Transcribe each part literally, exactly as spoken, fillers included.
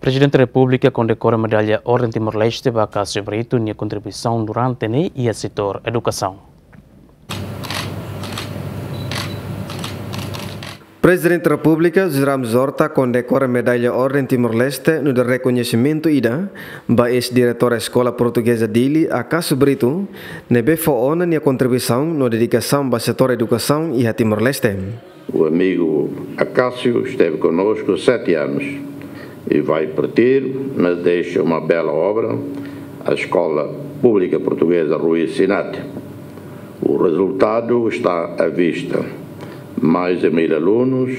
Prezidente Repúblika kondekora medalla Orden Timor-Leste ba Acácio Brito nia kontribuisaun durante ne'e iha setór edukasaun. Prezidente Repúblika José Ramos Horta kondekora medalla Orden Timor-Leste nu'udar rekoñesimentu ida ba eis-diretór Eskola Portugeza Dili, Acácio Brito, ne'ebé fó ona nia kontribuisaun no dedikasaun ba setór edukasaun iha Timor-Leste. O amigo Acácio esteve conosco sete anos e vai partir, mas deixa uma bela obra, a Escola Pública Portuguesa Rui Sinate. O resultado está à vista. Mais de mil alunos,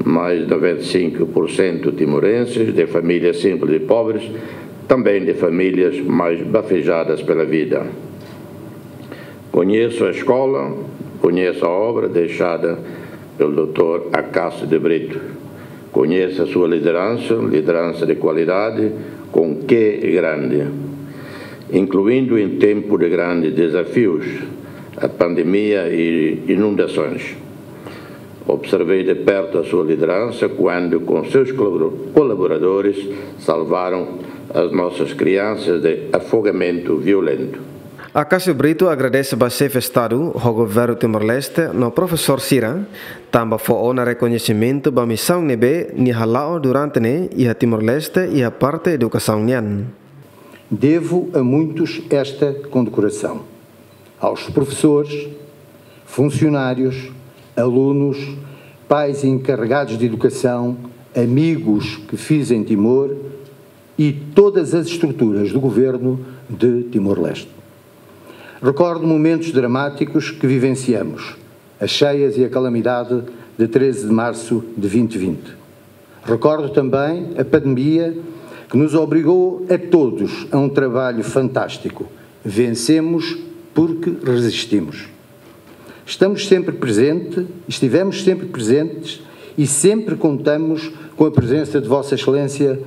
mais noventa e cinco por cento timorenses, de famílias simples e pobres, também de famílias mais bafejadas pela vida. Conheço a escola, conheço a obra deixada pelo doutor Acácio de Brito. Conheço a sua liderança, liderança de qualidade, com Q grande, incluindo em tempo de grandes desafios, a pandemia e inundações. Observei de perto a sua liderança quando, com seus colabora-, colaboradores, salvaram as nossas crianças de afogamento violento. Acácio Brito agradese ba Xefe Estadu ho Governu Timor-Leste no profesór sira, tanba fó ona rekoñesimentu ba misaun ne'ebé nia hala'o durante ne'e iha Timor-Leste iha parte edukasaun nian. Devo a muitos esta condecoração. Aos professores, funcionários, alunos, pais e encarregados de educação, amigos que fiz em Timor e todas as estruturas do governo de Timor-Leste. Recordo momentos dramáticos que vivenciamos, as cheias e a calamidade de treze de março de vinte vinte. Recordo também a pandemia que nos obrigou a todos a um trabalho fantástico. Vencemos porque resistimos. Estamos sempre presente, estivemos sempre presentes e sempre contamos com a presença de Vossa Excelência,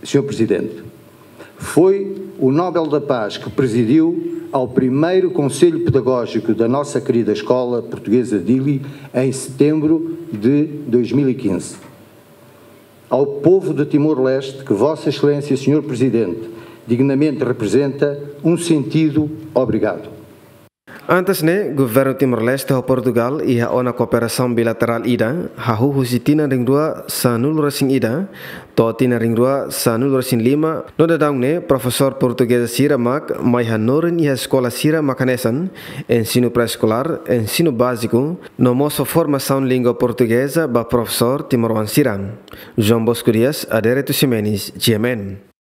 senhor Presidente. Foi o Nobel da Paz que presidiu ao primeiro Conselho Pedagógico da nossa querida Escola Portuguesa Dili em setembro de dois mil e quinze. Ao povo de Timor-Leste, que Vossa Excelência, senhor Presidente, dignamente representa, um sentido obrigado. Antes ne'e, Governu Timor-Leste ho Portugal iha ona kooperasaun bilaterál ida, hahú husi tinan rihun rua sanulu-resin-ida to'o tinan rihun rua sanulu-resin-lima, no daudaun ne'e profesór portugeza sira mak mai hanorin iha eskola sira mak hanesan ensinu pré-eskolár, ensinu báziku, no mós fó formasaun língua portugeza ba profesór timoroan sira. João Bosco Dias, Adérito Ximenes, G M N.